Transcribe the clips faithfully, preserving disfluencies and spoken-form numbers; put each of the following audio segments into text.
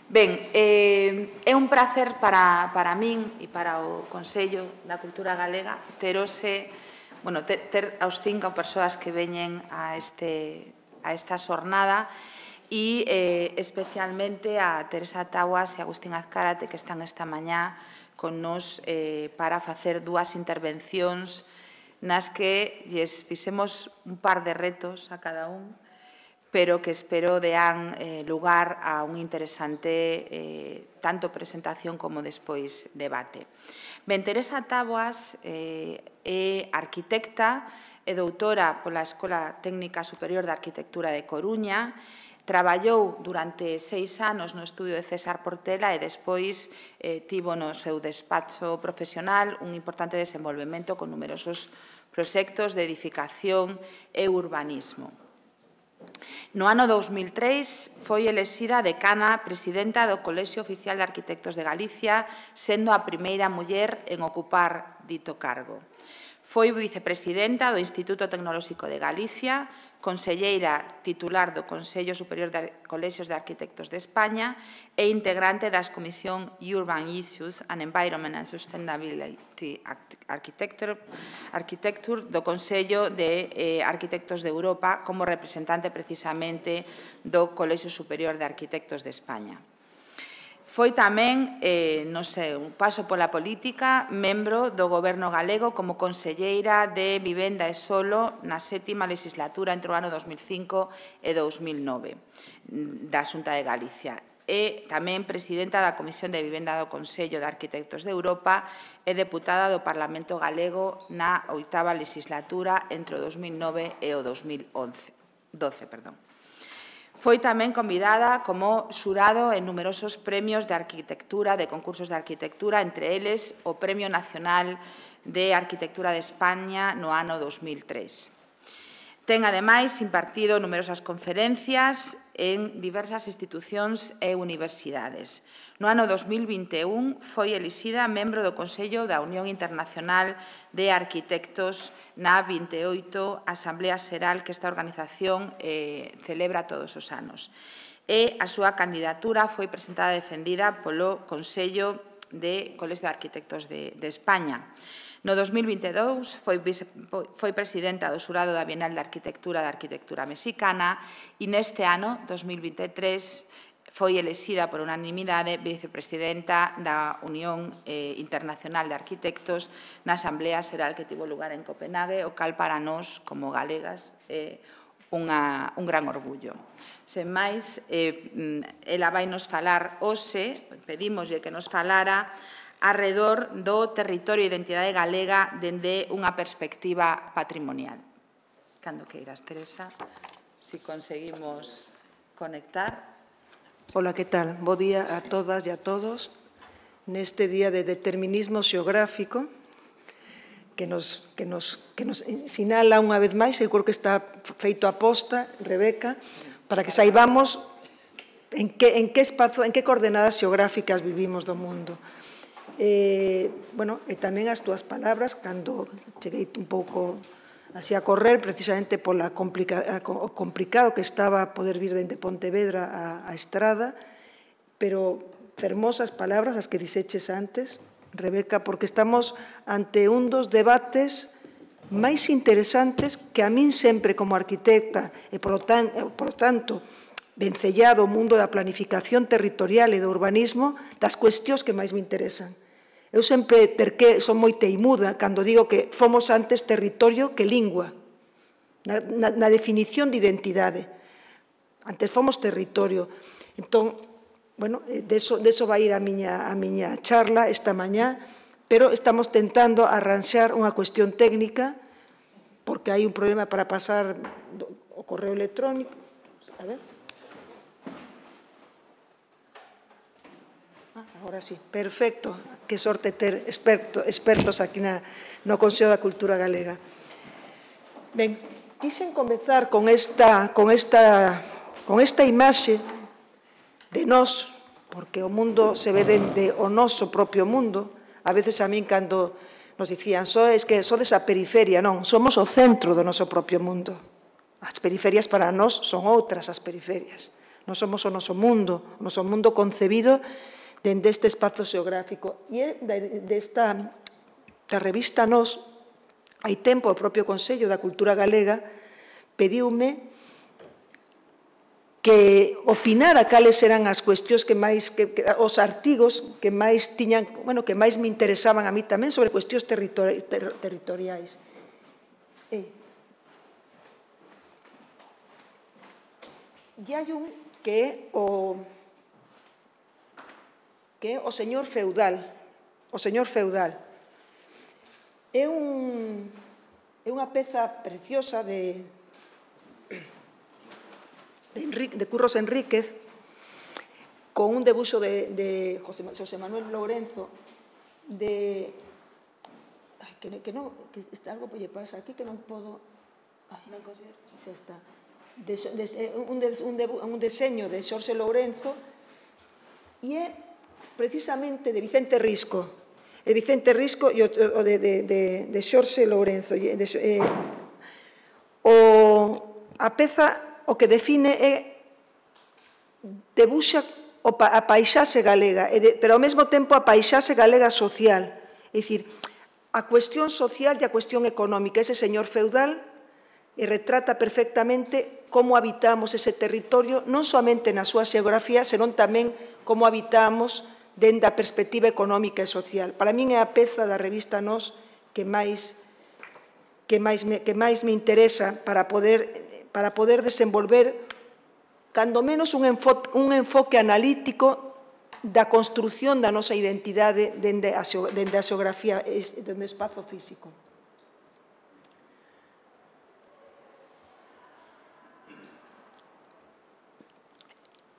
Ben, eh, é un prazer para, para min e para o Consello da Cultura Galega ter, ose, bueno, ter, ter aos cinco persoas que veñen a, este, a esta xornada e eh, especialmente a Teresa Taguas e Agustín Azcárate que están esta mañá con nos eh, para facer dúas intervencións nas que lles fixemos un par de retos a cada un, pero que espero dean eh, lugar a un interesante eh, tanto presentación como despois debate. Ben, Teresa Taboas eh, é arquitecta e doutora pola Escola Técnica Superior de Arquitectura de Coruña, traballou durante seis anos no estudio de César Portela e despois eh, tivo no seu despacho profesional un importante desenvolvemento con numerosos proxectos de edificación e urbanismo. No ano dous mil tres foi elexida decana presidenta do Colexio Oficial de Arquitectos de Galicia, sendo a primeira muller en ocupar dito cargo. Foi vicepresidenta do Instituto Tecnolóxico de Galicia, conselleira titular do Consello Superior de Colexios de Arquitectos de España e integrante das Comisión Urban Issues and Environment and Sustainability Architecture, Architecture do Consello de eh, Arquitectos de Europa como representante precisamente do Colexio Superior de Arquitectos de España. Foi tamén, eh, no seu paso pola política, membro do Goberno galego como conselleira de Vivenda e Solo na sétima legislatura entre o ano dos mil cinco e dos mil nove da Xunta de Galicia. E tamén presidenta da Comisión de Vivenda do Consello de Arquitectos de Europa e deputada do Parlamento galego na oitava legislatura entre o dos mil nove e o dos mil doce. Perdón. Foi tamén convidada como xurado en numerosos premios de arquitectura, de concursos de arquitectura, entre eles o Premio Nacional de Arquitectura de España no ano dos mil tres. Ten, ademais, impartido numerosas conferencias en diversas institucións e universidades. No ano dos mil vinte e un foi elixida membro do Consello da Unión Internacional de Arquitectos na vinte e oito Asamblea Xeral que esta organización eh, celebra todos os anos. E a súa candidatura foi presentada e defendida polo Consello de Colegio de Arquitectos de, de España. No dos mil vinte e dous foi, foi presidenta do xurado da Bienal de Arquitectura da Arquitectura Mexicana e neste ano, dos mil vinte e tres, foi elexida por unanimidade vicepresidenta da Unión eh, Internacional de Arquitectos na Asamblea Xeral que tivo lugar en Copenhague, o cal para nós, como galegas, é unha, un gran orgullo. Sen máis, eh, ela vai nos falar hoxe, pedimoslle que nos falara arredor do territorio e identidade galega dende unha perspectiva patrimonial. Cando queiras, Teresa, se conseguimos conectar. Ola, que tal? Bo día a todas e a todos neste día de determinismo xeográfico que nos, que nos, que nos sinala unha vez máis, eu creo que está feito a posta, Rebeca, para que saibamos en que, en que espazo, en que coordenadas xeográficas vivimos do mundo. Eh, bueno, e tamén as túas palabras, cando cheguei un pouco así a correr, precisamente pola complica, o complicado que estaba poder vir dende Pontevedra a, a Estrada, pero fermosas palabras as que dixeches antes, Rebeca, porque estamos ante un dos debates máis interesantes que a min sempre como arquitecta e, polo, tan, polo tanto, vencellado o mundo da planificación territorial e do urbanismo, das cuestións que máis me interesan. Eu sempre terqué, son moi teimuda cando digo que fomos antes territorio que lingua, na, na, na definición de identidade. Antes fomos territorio. Entón, bueno, deso, deso vai ir a miña, a miña charla esta mañá, pero estamos tentando arranxar unha cuestión técnica, porque hai un problema para pasar o correo electrónico. A ver. Agora sí, perfecto. Que sorte ter experto, expertos aquí na, no Consello da Cultura Galega. Ben, quixen comezar con esta, con esta, con esta imaxe de nós, porque o mundo se ve dende o noso propio mundo. A veces a min, cando nos dicían, so, es que sodes a periferia, non, somos o centro do noso propio mundo. As periferias para nós son outras as periferias. non somos o noso mundo, o noso mundo concebido dende este espazo xeográfico. E desta da revista Nós, hai tempo o propio Consello da Cultura Galega pediume que opinara cales eran as cuestións que máis, que, que, os artigos que máis tiñan, bueno, que máis me interesaban a mí tamén sobre cuestións territori ter territoriais. E, e hai un que é o que é o señor feudal. O señor feudal. É un é unha peza preciosa de De, Enrique, de Curros Enríquez, con un debuxo de, de José, José Manuel Lourenzo, de... Ay, que, que non, que está algo lle pasa aquí que non podo... Ay, non consigues pasar. Xa está. De, de, un, de, un, de, un deseño de Xorxe Lourenzo e é precisamente de Vicente Risco. De Vicente Risco e o, o de, de, de, de Xorxe Lourenzo. De, eh, o, a peza... o que define é debuxa a paisaxe galega, pero ao mesmo tempo a paisaxe galega social. É dicir, a cuestión social e a cuestión económica. Ese señor feudal retrata perfectamente como habitamos ese territorio, non somente na súa xeografía, senón tamén como habitamos dende a perspectiva económica e social. Para min é a peza da revista Nós que máis, que máis, me, que máis me interesa para poder... para poder desenvolver, cando menos, un enfoque, un enfoque analítico da construción da nosa identidade dende a, dende a xeografía, dende o espazo físico.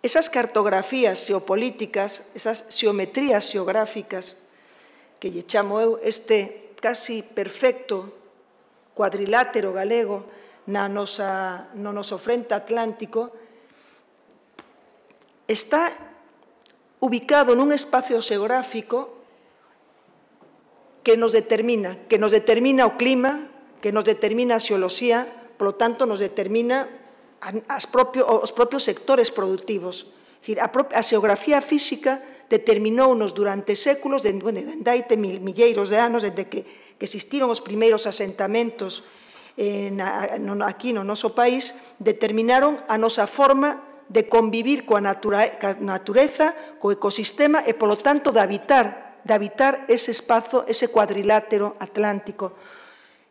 Esas cartografías xeopolíticas, esas xeometrías xeográficas, que lle chamo eu este casi perfecto cuadrilátero galego, na nosa, no noso frente atlántico, está ubicado nun espacio xeográfico que nos determina, que nos determina o clima, que nos determina a xeoloxía, polo tanto, nos determina as propio, os propios sectores productivos. É dicir, a, a xeografía física determinounos durante séculos, dende, bueno, dende hai milleiros de anos, desde que, que existiron os primeiros asentamentos aquí no noso país, determinaron a nosa forma de convivir coa natureza, co ecosistema e, polo tanto, de habitar, de habitar ese espazo, ese cuadrilátero atlántico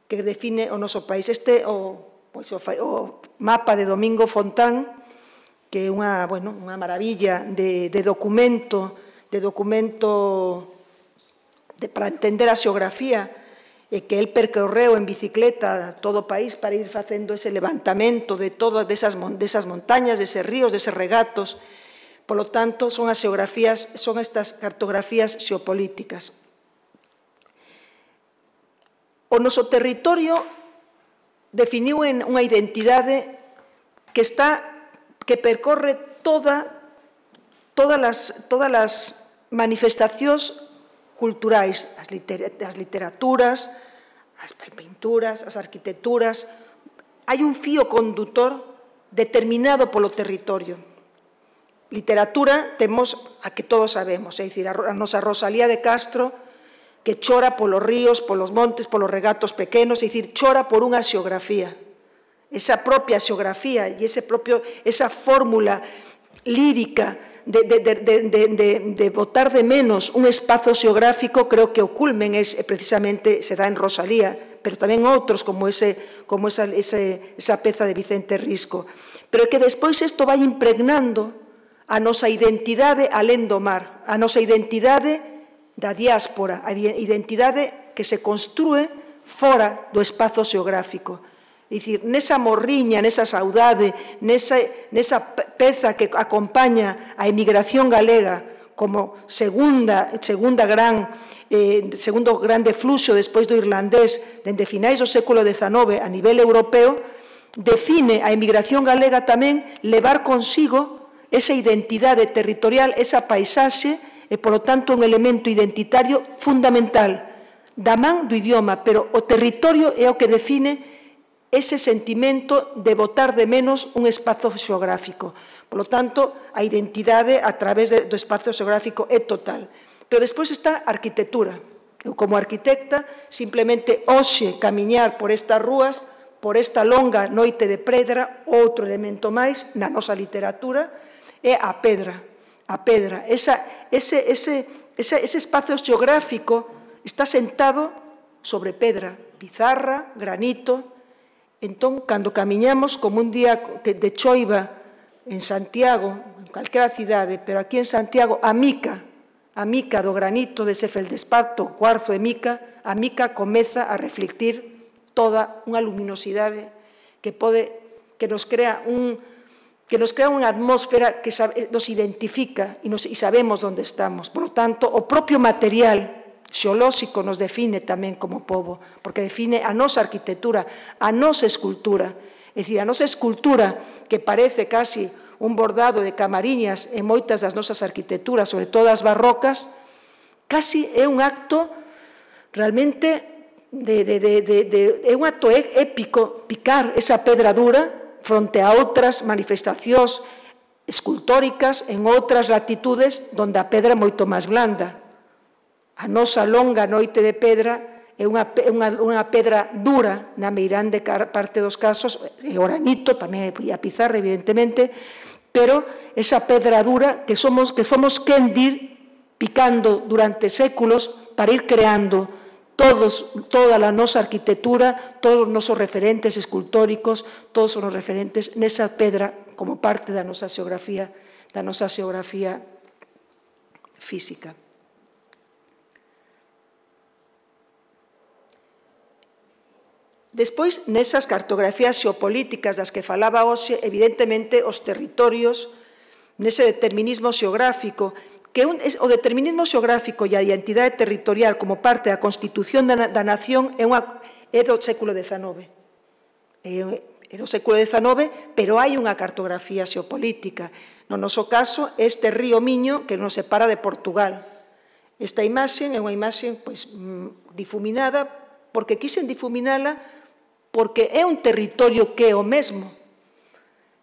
que define o noso país. Este é o, pois, o, o mapa de Domingo Fontán, que é unha, bueno, unha maravilla de, de documento, de documento de, para entender a xeografía, e que el percorreu en bicicleta todo o país para ir facendo ese levantamento de todas desas, desas montañas, deses ríos, deses regatos. Por lo tanto, son as xeografías, son estas cartografías xeopolíticas. O noso territorio definiu en unha identidade que está, que percorre toda, todas as, todas as manifestacións culturais, as, liter, as literaturas, as pinturas, as arquitecturas. Hai un fío condutor determinado polo territorio. Literatura temos a que todos sabemos, é dicir, a nosa Rosalía de Castro, que chora polos ríos, polos montes, polos regatos pequenos, é dicir, chora por unha xeografía. Esa propia xeografía e ese propio, esa fórmula lírica De, de, de, de, de, de botar de menos un espazo xeográfico, creo que o culmen es, precisamente se dá en Rosalía, pero tamén outros como, ese, como esa, ese, esa peza de Vicente Risco. Pero que despois isto vai impregnando a nosa identidade alén do mar, a nosa identidade da diáspora, a identidade que se construe fora do espazo xeográfico. É dicir, nesa morriña, nesa saudade, nesa, nesa peza que acompaña a emigración galega como segunda, segunda gran, eh, segundo grande fluxo despois do irlandés dende finais do século dezanove a nivel europeo, define a emigración galega tamén levar consigo esa identidade territorial, esa paisaxe e, polo tanto, un elemento identitario fundamental da man do idioma, pero o territorio é o que define ese sentimento de botar de menos un espazo xeográfico. Por lo tanto, a identidade a través do espazo xeográfico é total. Pero despois está a arquitectura. Eu, como arquitecta, simplemente hoxe camiñar por estas rúas, por esta longa noite de pedra, outro elemento máis na nosa literatura, é a pedra. A pedra. Esa, ese, ese, ese, ese espazo xeográfico está sentado sobre pedra, pizarra, granito. Entón, cando camiñamos como un día de choiva en Santiago, en calquera cidade, pero aquí en Santiago, a mica, a mica do granito, dese feldespato, cuarzo e mica, a mica comeza a reflectir toda unha luminosidade que pode, que nos crea un, que nos crea unha atmósfera que sabe, nos identifica e, nos, e sabemos onde estamos. Por lo tanto, o propio material xeolóxico nos define tamén como pobo, porque define a nosa arquitectura, a nosa escultura. É dicir, a nosa escultura, que parece casi un bordado de camariñas en moitas das nosas arquitecturas, sobre todo as barrocas, casi é un acto realmente de, de, de, de, de, é un acto épico picar esa pedra dura fronte a outras manifestacións escultóricas en outras latitudes onde a pedra é moito máis blanda. A nosa longa noite de pedra é unha, unha, unha pedra dura na meirande parte dos casos, e o granito, tamén a pizarra, evidentemente, pero esa pedra dura que somos, que fomos quen dir picando durante séculos para ir creando todos, toda a nosa arquitectura, todos os nosos referentes escultóricos, todos os referentes nesa pedra como parte da nosa xeografía, da nosa xeografía física. Despois, nesas cartografías xeopolíticas das que falaba hoxe, evidentemente, os territorios, nese determinismo xeográfico, que un, es, o determinismo xeográfico e a identidade territorial como parte da constitución da, da nación é, unha, é do século dezanove. É, é do século dezanove, pero hai unha cartografía xeopolítica. No noso caso, este río Miño que nos separa de Portugal. Esta imaxe é unha imaxe pois, difuminada, porque quixen difuminala porque é un territorio que é o mesmo.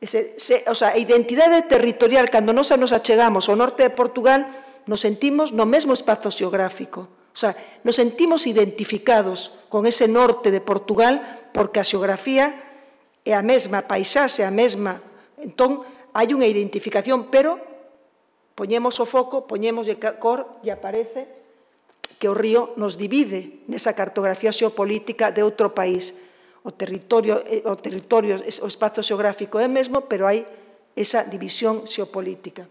Ese, se, o sea, a identidade territorial, cando nos nos achegamos ao norte de Portugal, nos sentimos no mesmo espazo xeográfico. O sea, nos sentimos identificados con ese norte de Portugal porque a xeografía é a mesma, a paisaxe é a mesma. Entón, hai unha identificación, pero poñemos o foco, poñemos de cor e aparece que o río nos divide nesa cartografía xeopolítica de outro país. O territorio, o territorio, o espazo xeográfico é mesmo, pero hai esa división xeopolítica.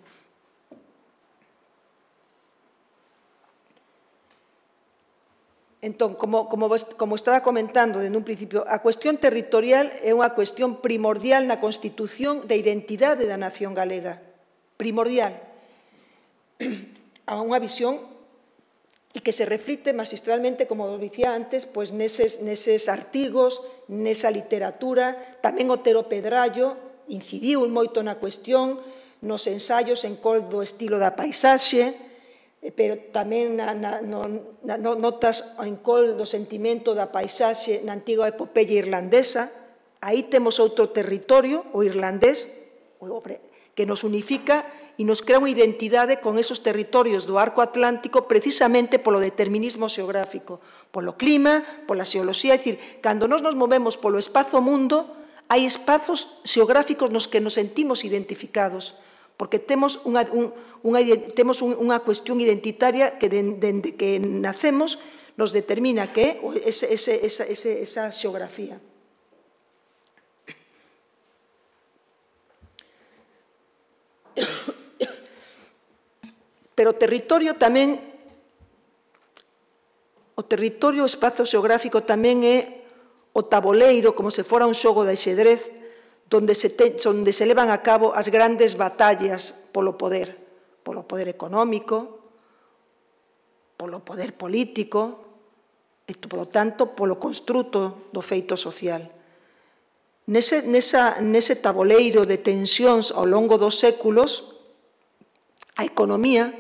Entón, como, como, como estaba comentando desde un principio, a cuestión territorial é unha cuestión primordial na constitución da identidade da nación galega. Primordial. A unha visión e que se reflicte magistralmente, como dicía antes, pois neses, neses artigos, nesa literatura. Tamén Otero Pedrallo incidiu moito na cuestión, nos ensaios en col do estilo da paisaxe, pero tamén na, na, no, na, notas en col do sentimento da paisaxe na antiga epopeia irlandesa. Aí temos outro territorio, o irlandés, que nos unifica e nos crea unha identidade con esos territorios do arco atlántico precisamente polo determinismo xeográfico, polo clima, pola xeoloxía. É dicir, cando nos nos movemos polo espazo mundo, hai espazos xeográficos nos que nos sentimos identificados, porque temos unha, un, unha, temos unha cuestión identitaria que dende que nacemos nos determina que é ese, ese, esa, ese, esa xeografía. Pero o territorio tamén, o territorio, o espazo xeográfico tamén é o taboleiro, como se fora un xogo de xedrez, onde se, te, onde se levan a cabo as grandes batallas polo poder, polo poder económico, polo poder político, e, polo tanto, polo construto do feito social. Nese, nesa, nese taboleiro de tensións ao longo dos séculos, a economía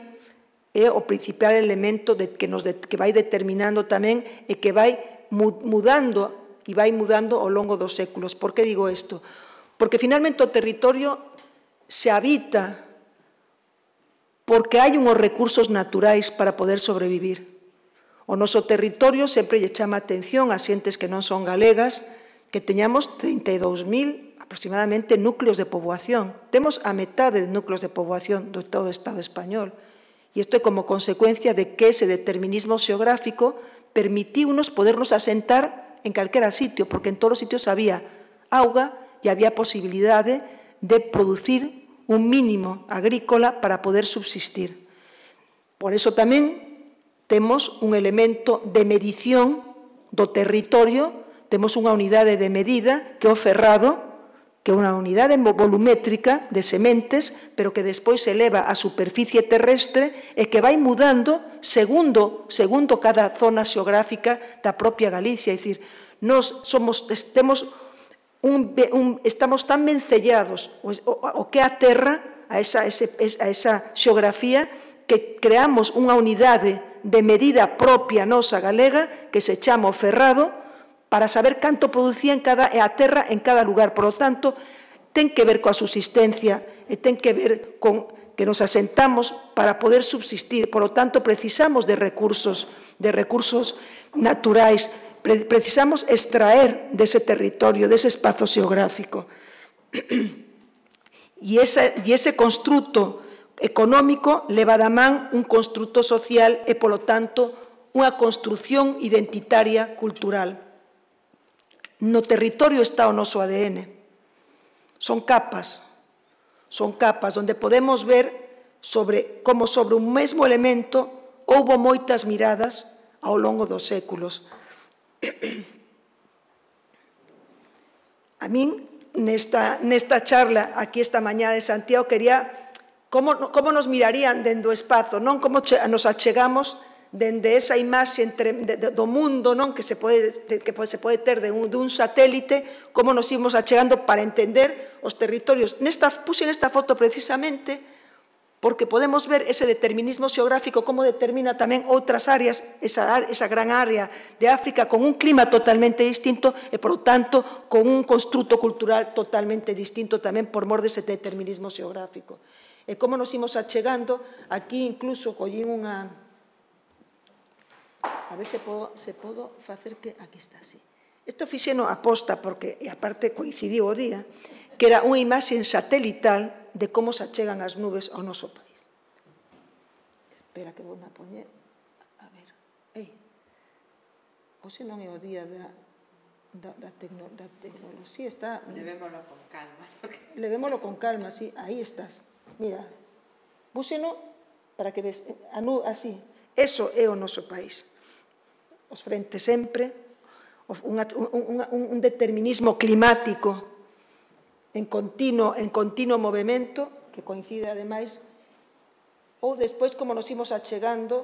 é o principal elemento de, que, nos de, que vai determinando tamén e que vai mudando e vai mudando ao longo dos séculos. Por que digo isto? Porque finalmente o territorio se habita porque hai unhos recursos naturais para poder sobrevivir. O noso territorio sempre lle chama a atención a xentes que non son galegas, que teñamos trinta e dous mil aproximadamente núcleos de poboación. Temos a metade de núcleos de poboación de todo o Estado español. E isto é como consecuencia de que ese determinismo xeográfico permitiunos podernos asentar en calquera sitio, porque en todos os sitios había auga e había posibilidade de producir un mínimo agrícola para poder subsistir. Por eso tamén temos un elemento de medición do territorio, temos unha unidade de medida que é o ferrado, que é unha unidade volumétrica de sementes, pero que despois se eleva á superficie terrestre e que vai mudando segundo, segundo cada zona xeográfica da propia Galicia. É dicir, nos somos, temos un, un, estamos tan vencellados o, o, o que é a terra, a esa, ese, a esa xeografía, que creamos unha unidade de medida propia nosa galega que se chama o ferrado, para saber canto producía en cada, a terra en cada lugar. Por lo tanto, ten que ver coa subsistencia e ten que ver con que nos asentamos para poder subsistir. Por lo tanto, precisamos de recursos, de recursos naturais, pre precisamos extraer dese territorio, dese espazo xeográfico. E ese, e ese construto económico leva da man un construto social e, polo tanto, unha construción identitaria cultural. No territorio está o noso A D N. Son capas, son capas onde podemos ver sobre como sobre un mesmo elemento houbo moitas miradas ao longo dos séculos. A min, nesta, nesta charla aquí esta mañá de Santiago, quería como, como nos mirarían dende o espazo, non como nos achegamos dende esa imaxe entre, de, de, do mundo, non, que se pode, que se pode ter de un, de un satélite, como nos ímos achegando para entender os territorios. Nesta, puse nesta foto precisamente porque podemos ver ese determinismo xeográfico, como determina tamén outras áreas, esa, esa gran área de África con un clima totalmente distinto e, por lo tanto, con un construto cultural totalmente distinto tamén por mor dese determinismo xeográfico. E como nos imos achegando, aquí incluso collín unha... A ver se podo, se podo facer que... Aquí está, así. Isto fixeno aposta, porque, e aparte coincidiu o día, que era unha imaxe satelital de como se achegan as nubes ao noso país. Espera que vou na poñer. A ver. Ei. Hoxe non é o día da, da, da, tecno, da tecnoloxía. Está... Levémolo con calma. Levémolo con calma, sí. Aí estás. Mira. Búxeno para que ves. A nu, así. Eso é o noso país. Os frentes sempre, un, un, un determinismo climático en continuo, en continuo movimento, que coincide, ademais, ou despois como nos imos achegando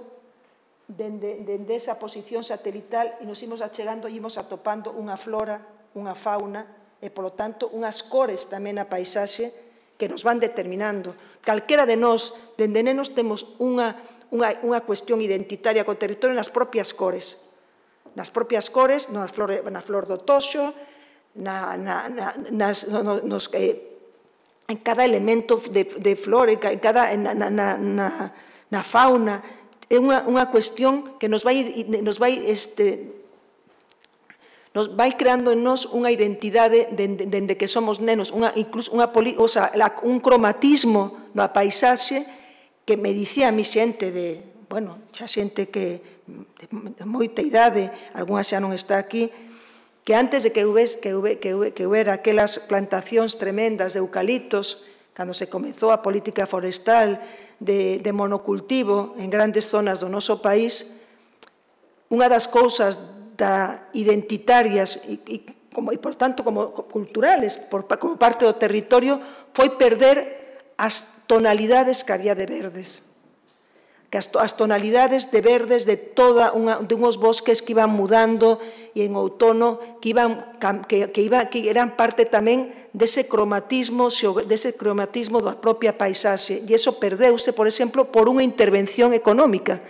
dende, dende esa posición satelital e nos imos achegando e imos atopando unha flora, unha fauna e, polo tanto, unhas cores tamén na paisaxe que nos van determinando. Calquera de nós, dende nenos, temos unha, unha, unha cuestión identitaria co territorio nas propias cores. Nas propias cores, na flor, na flor do toxo, na, na, na, nas, no, nos, eh, en cada elemento de, de flor, en cada, na, na, na, na fauna, é unha, unha cuestión que nos vai, nos vai, este, nos vai creando en nós unha identidade dende de, de que somos nenos, unha, incluso unha, o sea, un cromatismo na paisaxe que me dicía a mi xente de, bueno, xa xente que de moita idade, algunha xa non está aquí, que antes de que hubiera, que hubiera, que hubiera aquelas plantacións tremendas de eucaliptos, cando se comezou a política forestal de, de monocultivo en grandes zonas do noso país, unha das cousas da identitarias e, e, como, e por tanto, como culturales, por, como parte do territorio, foi perder as tonalidades que había de verdes. Que as, as tonalidades de verdes de toda unha, de unhos bosques que iban mudando e en outono que iban que, que, iba, que eran parte tamén dese cromatismo dese cromatismo da propia paisaxe e iso perdeuse, por exemplo, por unha intervención económica.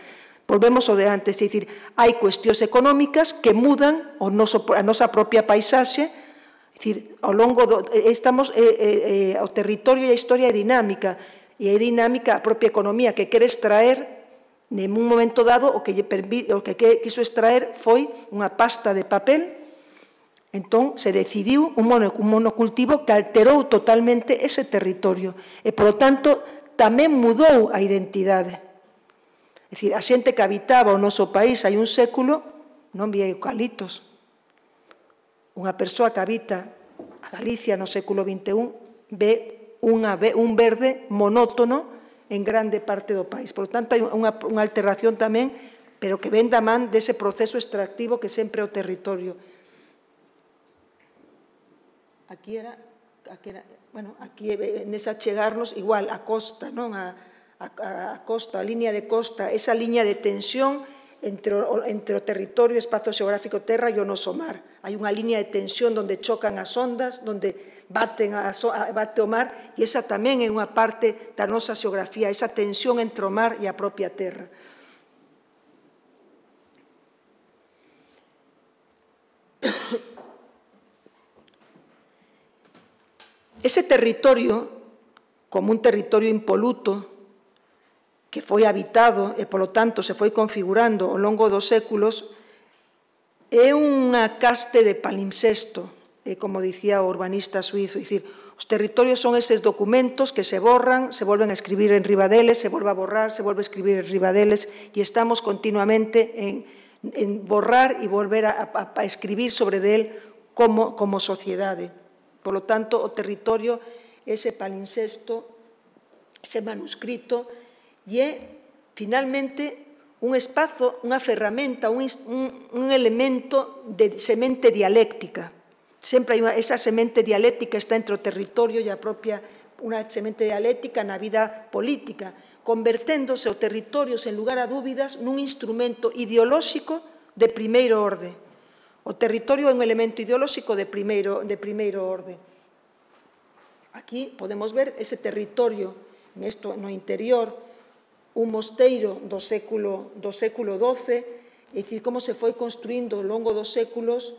Volvemos ao de antes, é dicir, hai cuestións económicas que mudan o noso, a nosa propia paisaxe dicir, ao longo do, estamos, eh, eh, o territorio e a historia é dinámica, e é dinámica a propia economía que quere extraer, en un momento dado, o que, lle permite, o que quiso extraer foi unha pasta de papel. Entón, se decidiu un monocultivo que alterou totalmente ese territorio e, polo tanto, tamén mudou a identidade. É dicir, a xente que habitaba o noso país hai un século non vía eucaliptos. Unha persoa que habita a Galicia no século vinte e un ve unha, un verde monótono en grande parte do país. Por tanto, hai unha, unha alteración tamén, pero que ven da man dese proceso extractivo que sempre é o territorio. Aquí era, aquí era, bueno, aquí nesa chegarnos, igual, a costa, non? A, a, a costa, a línea de costa, esa línea de tensión entre o, entre o territorio, o espazo xeográfico terra e o noso mar. Hai unha línea de tensión onde chocan as ondas, onde baten a, a, bate o mar, e esa tamén é unha parte da nosa xeografía, esa tensión entre o mar e a propia terra. Ese territorio, como un territorio impoluto, que foi habitado e, polo tanto, se foi configurando ao longo dos séculos, é unha caste de palimpsesto, como dicía o urbanista suizo. É dicir, os territorios son eses documentos que se borran, se volven a escribir en riba deles, se volve a borrar, se volve a escribir en riba deles, e estamos continuamente en, en borrar e volver a, a, a escribir sobre del como, como sociedade. Por lo tanto, o territorio, ese palimpsesto, ese manuscrito, e é, finalmente, un espazo, unha ferramenta, un, un, un elemento de semente dialéctica. Sempre hai unha, esa semente dialéctica está entre o territorio e a propia, unha semente dialéctica na vida política, converténdose o territorio, sen lugar a dúbidas, nun instrumento ideolóxico de primeiro orde. O territorio é un elemento ideolóxico de primeiro, de primeiro orde. Aquí podemos ver ese territorio, nesto, no interior, un mosteiro do século, do século doce, é dicir, como se foi construindo ao longo dos séculos.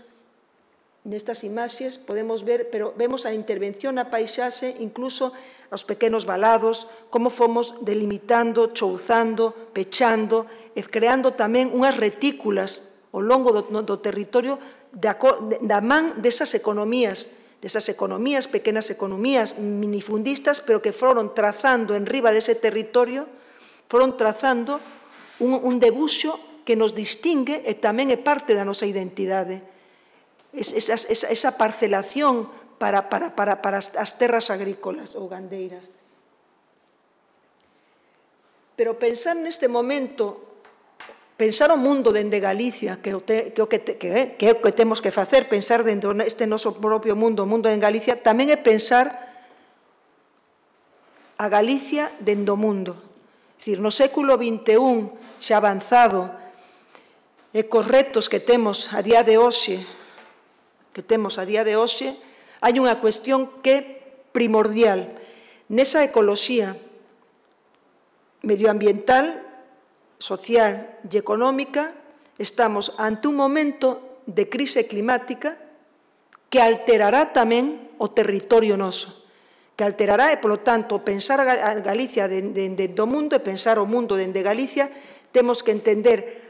Nestas imaxes podemos ver, pero vemos a intervención na paisaxe, incluso aos pequenos valados, como fomos delimitando, chouzando, pechando, e creando tamén unhas retículas ao longo do, do territorio da, da man desas economías, desas economías, pequenas economías minifundistas, pero que foron trazando en riba dese territorio, foron trazando un, un debuxo que nos distingue e tamén é parte da nosa identidade. Esa, esa, esa parcelación para, para, para, para as terras agrícolas ou gandeiras. Pero pensar neste momento, pensar o mundo dende Galicia, que, o te, que, o que, te, que, que é o que temos que facer, pensar dentro deste noso propio mundo, o mundo en Galicia, tamén é pensar a Galicia dentro do mundo. É dicir, no século vinte e un, xa avanzado, e cos retos que temos a día de hoxe, que temos a día de hoxe, hai unha cuestión que é primordial. Nesa ecoloxía medioambiental, social e económica, estamos ante un momento de crise climática que alterará tamén o territorio noso, que alterará e, polo tanto, pensar a Galicia dende o mundo e pensar o mundo dende Galicia, temos que entender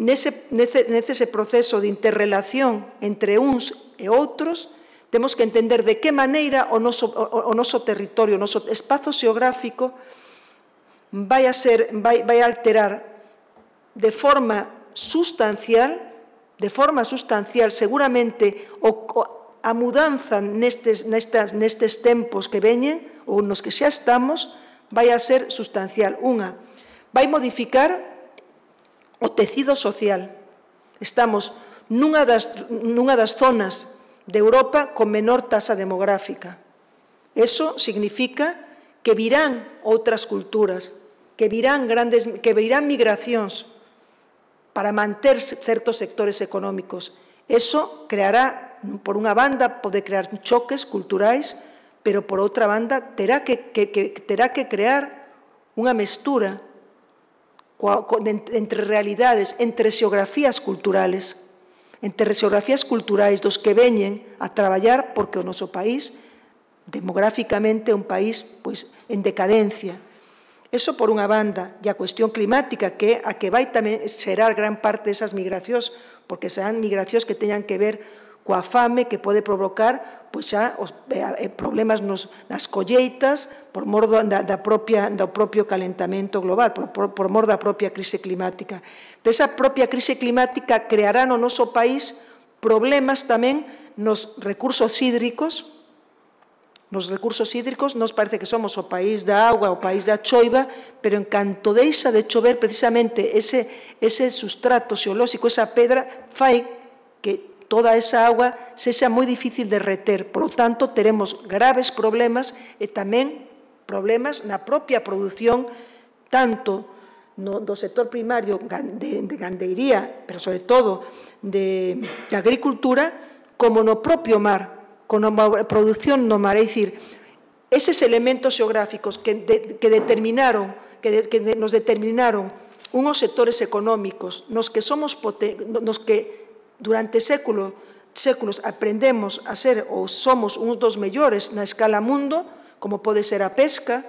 Nese, nese, nese proceso de interrelación entre uns e outros, temos que entender de que maneira o noso, o, o noso territorio, o noso espazo xeográfico vai a, ser, vai, vai a alterar de forma sustancial, de forma sustancial, seguramente, o, o, a mudanza nestes, nestas, nestes tempos que veñen, ou nos que xa estamos, vai a ser sustancial. Unha, vai modificar o tecido social. Estamos nunha das, nunha das zonas de Europa con menor tasa demográfica. Eso significa que virán outras culturas, que virán, grandes, que virán migracións para manter certos sectores económicos. Eso creará, por unha banda, pode crear choques culturais, pero por outra banda terá que, que, que, terá que crear unha mestura entre realidades, entre xeografías culturales. entre xeografías culturais dos que veñen a traballar porque o noso país, demográficamente, é un país pois, en decadencia. Eso por unha banda, e a cuestión climática, que a que vai tamén xerar gran parte desas migracións, porque serán migracións que teñan que ver coa fame que pode provocar pois xa os eh, problemas nos, nas colleitas por mor da, da propia, do propio calentamento global, por, por, por mor da propia crise climática. Pero esa propia crise climática creará no noso país problemas tamén nos recursos hídricos. Nos recursos hídricos nos parece que somos o país da agua, o país da choiva, pero en canto deixa de chover, precisamente ese, ese sustrato xeolóxico, esa pedra, fai que toda esa agua sexa moi difícil de reter. Por lo tanto, teremos graves problemas e tamén problemas na propia produción, tanto no, do sector primario de, de gandeiría, pero sobre todo de, de agricultura, como no propio mar, con a produción no mar. É dicir, eses elementos xeográficos que, de, que determinaron, que, de, que nos determinaron unos sectores económicos nos que somos nos que durante séculos, séculos aprendemos a ser ou somos uns dos mellores na escala mundo, como pode ser a pesca,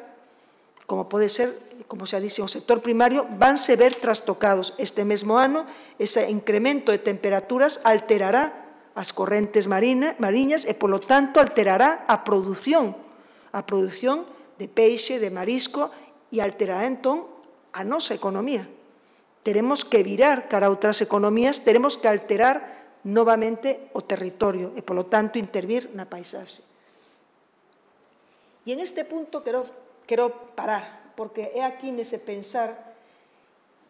como pode ser, como xa dixe, o sector primario, vanse ver trastocados. Este mesmo ano, ese incremento de temperaturas alterará as correntes marina, mariñas e, polo tanto, alterará a produción, a produción de peixe, de marisco, e alterará, entón, a nosa economía. Teremos que virar cara a outras economías, teremos que alterar novamente o territorio e, polo tanto, intervir na paisaxe. E en este punto quero, quero parar, porque é aquí nese pensar.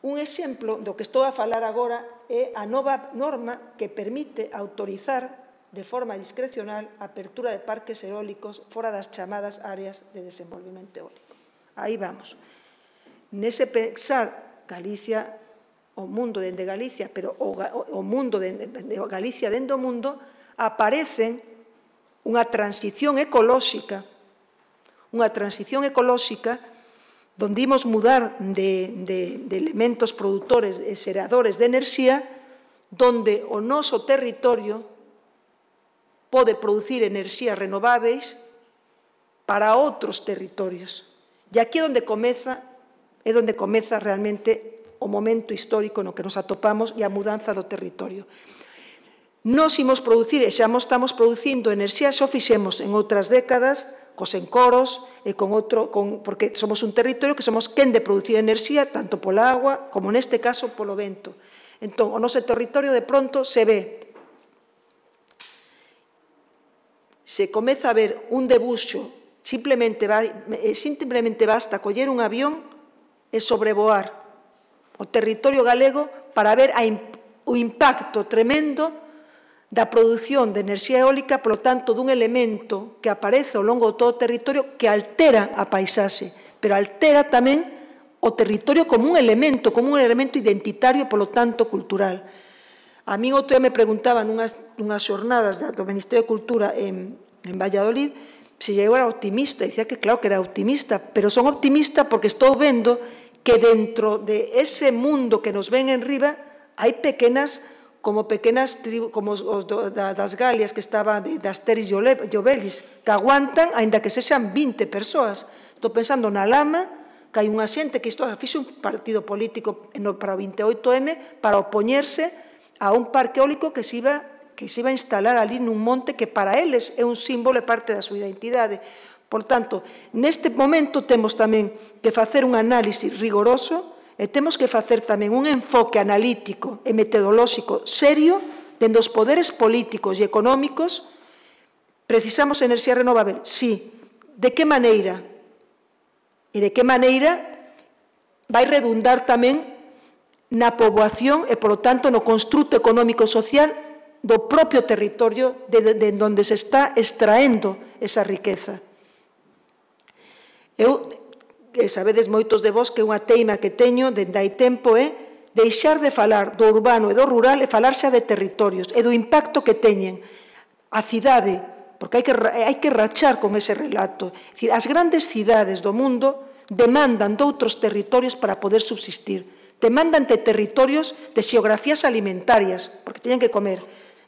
Un exemplo do que estou a falar agora é a nova norma que permite autorizar de forma discrecional a apertura de parques eólicos fora das chamadas áreas de desenvolvemento eólico. Aí vamos. Nese pensar, Galicia, o mundo dende Galicia, pero o, o mundo dende de Galicia dende o mundo, aparecen unha transición ecolóxica, unha transición ecolóxica donde imos mudar de, de, de elementos produtores e xeradores de enerxía, donde o noso territorio pode producir enerxías renováveis para outros territorios. E aquí é onde comeza, é onde comeza realmente o momento histórico no que nos atopamos e a mudanza do territorio. Nos imos producir, e xa estamos producindo enerxía, xa o fixemos en outras décadas, cos encoros, e con outro, con, porque somos un territorio que somos quen de producir enerxía, tanto pola agua, como neste caso polo vento. Entón, o noso territorio de pronto se ve, se comeza a ver un debuxo, simplemente, vai, simplemente basta coller un avión e sobrevoar o territorio galego para ver a, o impacto tremendo da produción de enerxía eólica, polo tanto, dun elemento que aparece ao longo de todo o territorio que altera a paisaxe, pero altera tamén o territorio como un elemento, como un elemento identitario, polo tanto, cultural. A mí outro día me preguntaban nunhas, nunhas xornadas do Ministerio de Cultura en, en Valladolid se eu era optimista, e dicía que claro que era optimista, pero son optimista porque estou vendo que dentro de ese mundo que nos ven en riba hai pequenas como pequenas tribus, como os do, da, das Galias que estaba de, de Asteris e Obelis, que aguantan, aínda que sexan vinte persoas. Estou pensando na Lama, que hai unha xente que isto fixe un partido político no, para o vinte e oito eme para opoñerse a un parque eólico que se iba, que se iba a instalar ali nun monte que para eles é un símbolo e parte da súa identidade. Por tanto, neste momento temos tamén que facer un análisis rigoroso e temos que facer tamén un enfoque analítico e metodolóxico serio dende os poderes políticos e económicos. Precisamos enerxía renovable? Sí. De que maneira? E de que maneira vai redundar tamén na poboación e, polo tanto, no construto económico social do propio territorio de, de, de onde se está extraendo esa riqueza. Eu que sabedes moitos de vos que unha teima que teño dende hai tempo é deixar de falar do urbano e do rural e falar xa de territorios e do impacto que teñen a cidade, porque hai que, hai que rachar con ese relato. É dicir, as grandes cidades do mundo demandan doutros territorios para poder subsistir. demandan de territorios de xeografías alimentarias, porque teñen que comer,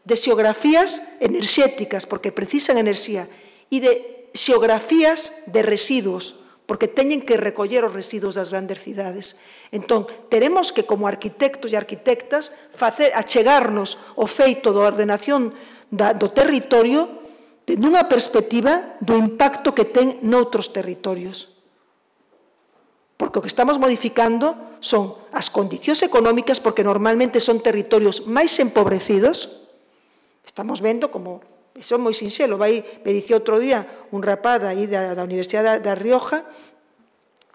de xeografías enerxéticas, porque precisan enerxía, e de xeografías de residuos, porque teñen que recoller os residuos das grandes cidades. Entón, teremos que, como arquitectos e arquitectas, facer, achegarnos o feito da ordenación da, do territorio nunha perspectiva do impacto que ten noutros territorios. Porque o que estamos modificando son as condicións económicas, porque normalmente son territorios máis empobrecidos. Estamos vendo como, iso é moi sinxelo, vai, me dicía outro día un rapaz aí da, da Universidade da Rioja,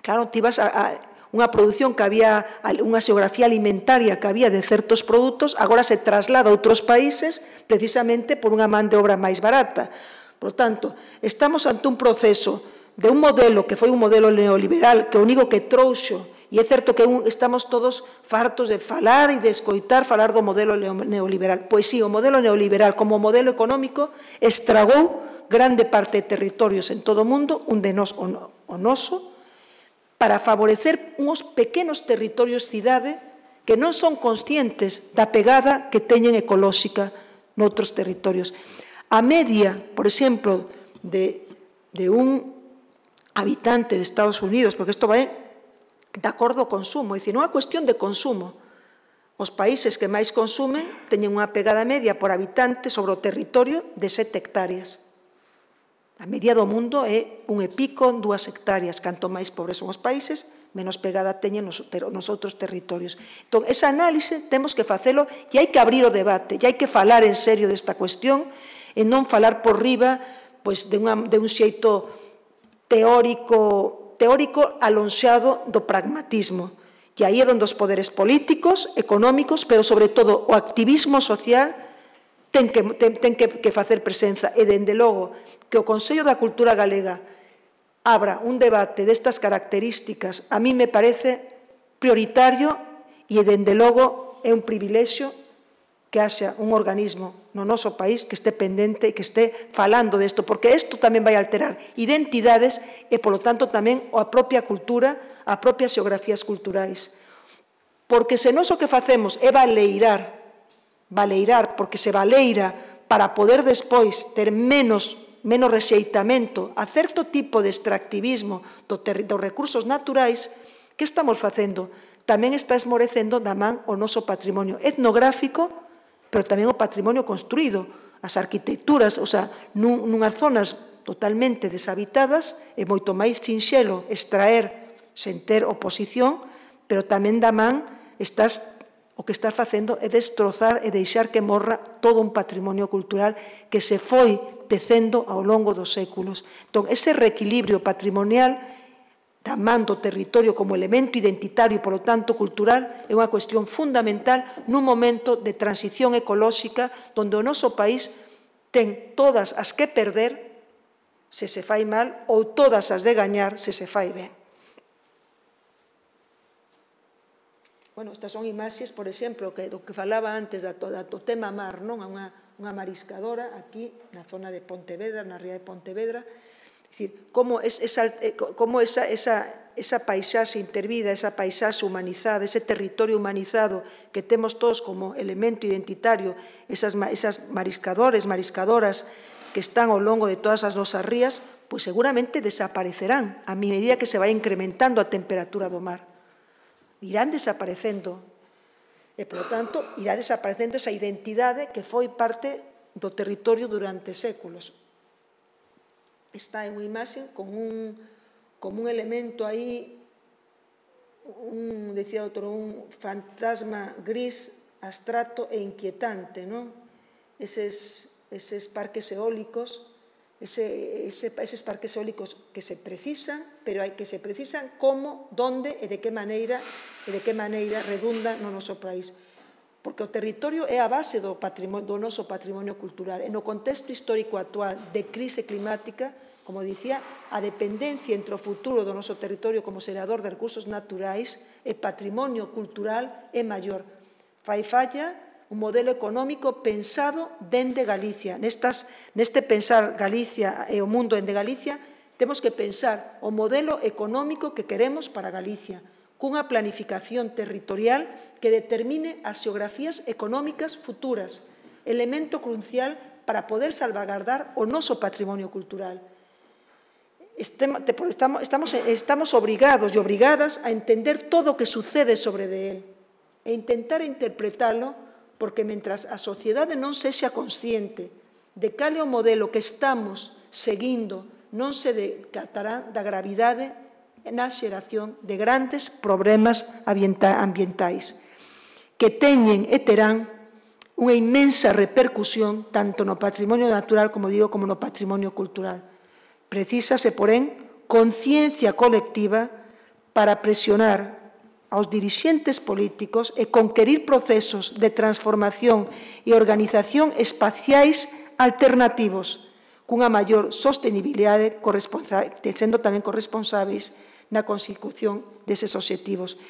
claro, ti vas a, a unha produción que había, unha xeografía alimentaria que había de certos produtos, agora se traslada a outros países precisamente por unha man de obra máis barata. Por tanto, estamos ante un proceso de un modelo que foi un modelo neoliberal, que o único que trouxo, e é certo que estamos todos fartos de falar e de escoitar falar do modelo neoliberal. Pois sí, o modelo neoliberal como modelo económico estragou grande parte de territorios en todo o mundo, un de nós o noso, para favorecer uns pequenos territorios cidade que non son conscientes da pegada que teñen ecolóxica noutros territorios. A media, por exemplo, de, de un habitante de Estados Unidos, porque isto vai de acordo ao consumo, é dicir, non é cuestión de consumo. Os países que máis consumen teñen unha pegada media por habitante sobre o territorio de sete hectáreas. A media do mundo é un e pico, dúas hectáreas. Canto máis pobres son os países, menos pegada teñen nos, nos outros territorios. Entón, esa análise temos que facelo e hai que abrir o debate, e hai que falar en serio desta cuestión e non falar por riba pois, de, unha, de un xeito teórico, teórico alonxado do pragmatismo. E aí é onde os poderes políticos, económicos, pero sobre todo o activismo social ten que, ten, ten que, que facer presenza. E, dende logo, que o Consello da Cultura Galega abra un debate destas características, a mí me parece prioritario e, dende logo, é un privilexio que haxa un organismo no noso país que este pendente e que este falando desto, porque isto tamén vai alterar identidades e, polo tanto, tamén a propia cultura, a propias xeografías culturais. Porque se nós o que facemos é valeirar, valeirar, porque se valeira para poder despois ter menos, menos rexeitamento a certo tipo de extractivismo do dos recursos naturais, que estamos facendo? Tamén está esmorecendo da man o noso patrimonio etnográfico, pero tamén o patrimonio construído, as arquitecturas, o sea, nun, nunhas zonas totalmente deshabitadas, é moito máis sinxelo extraer sen ter oposición, pero tamén da man estás, o que estás facendo é destrozar e deixar que morra todo un patrimonio cultural que se foi tecendo ao longo dos séculos. Entón, ese reequilibrio patrimonial da man do territorio como elemento identitario e, polo tanto, cultural, é unha cuestión fundamental nun momento de transición ecolóxica onde o noso país ten todas as que perder se se fai mal ou todas as de gañar se se fai ben. Bueno, estas son imaxes, por exemplo, que, do que falaba antes da, da, do tema mar, non? Unha, unha mariscadora aquí na zona de Pontevedra, na ría de Pontevedra. É dicir, como, es, esa, como esa, esa, esa paisaxe intervida, esa paisaxe humanizada, ese territorio humanizado que temos todos como elemento identitario, esas, esas mariscadores, mariscadoras que están ao longo de todas as nosas rías, pois seguramente desaparecerán a medida que se vai incrementando a temperatura do mar. Irán desaparecendo e, por lo tanto, irá desaparecendo esa identidade que foi parte do territorio durante séculos. Está en unha imaxe con un, como un elemento aí, un, decía outro, un fantasma gris, abstracto e inquietante, non? Eses, eses parques eólicos, ese, ese, eses parques eólicos que se precisan, pero hai que se precisan como, donde e de que maneira, e de que maneira redunda no noso país. Porque o territorio é a base do, patrimonio, do noso patrimonio cultural. E no contexto histórico actual de crise climática, como dicía, a dependencia entre o futuro do noso territorio como xerador de recursos naturais e patrimonio cultural é maior. Fai falla un modelo económico pensado dende Galicia. Nestas, neste pensar Galicia e o mundo dende Galicia, temos que pensar o modelo económico que queremos para Galicia. cunha planificación territorial que determine as xeografías económicas futuras, elemento crucial para poder salvagardar o noso patrimonio cultural. Estamos, estamos, estamos obrigados e obrigadas a entender todo o que sucede sobre de él e intentar interpretalo, porque mentras a sociedade non sexa consciente de cal é o modelo que estamos seguindo, non se decatará da gravidade na xeración de grandes problemas ambientais que teñen e terán unha inmensa repercusión tanto no patrimonio natural, como digo, como no patrimonio cultural. Precísase, porén, conciencia colectiva para presionar aos dirixentes políticos e conquerir procesos de transformación e organización espaciais alternativos cunha maior sostenibilidade, sendo tamén corresponsáveis na consecución deses obxectivos.